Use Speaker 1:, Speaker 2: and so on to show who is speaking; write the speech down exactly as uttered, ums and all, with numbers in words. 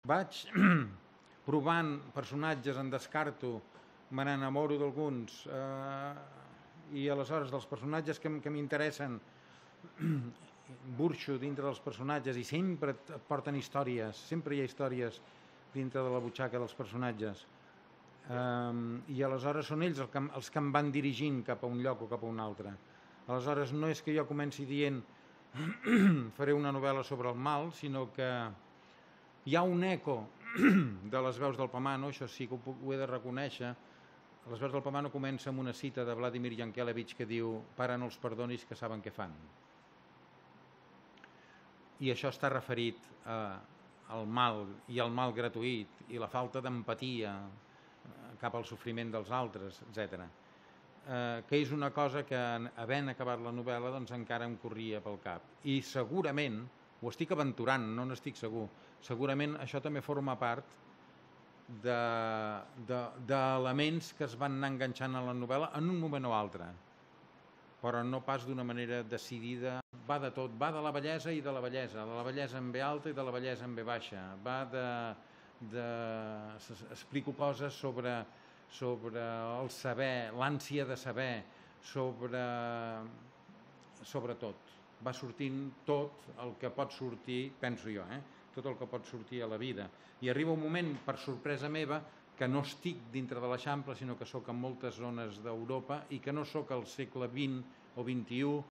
Speaker 1: vaig provant personatges, en descarto, me n'enamoro d'alguns, eh, i aleshores dels personatges que, que m'interessen burxo dintre dels personatges i sempre et porten històries, sempre hi ha històries dintre de la butxaca dels personatges. Um, I aleshores són ells els que, els que em van dirigint cap a un lloc o cap a un altre. Aleshores no és que jo comenci dient faré una novel·la sobre el mal, sinó que hi ha un eco de les veus del Pamano, això sí que ho, ho he de reconèixer. Les veus del Pamano comença amb una cita de Vladimir Yankelevich que diu: «Pare, no els perdonis, que saben què fan». I això està referit a, al mal i al mal gratuït i la falta d'empatia cap al sofriment dels altres, etcètera. Eh, que és una cosa que, havent acabat la novel·la, doncs encara em corria pel cap. I segurament, ho estic aventurant, no n'estic segur, segurament això també forma part d'elements que es van anar enganxant a la novel·la en un moment o altre, però no pas d'una manera decidida. Va de tot, va de la bellesa i de la bellesa, de la bellesa en ve alta i de la bellesa en ve baixa, va de... de explico coses sobre, sobre el saber, l'ànsia de saber, sobre, sobre tot. Va sortint tot el que pot sortir, penso jo, eh? tot el que pot sortir a la vida. I arriba un moment, per sorpresa meva, que no estic dintre de l'Eixample, sinó que sóc en moltes zones d'Europa i que no sóc al segle vint o vint i u,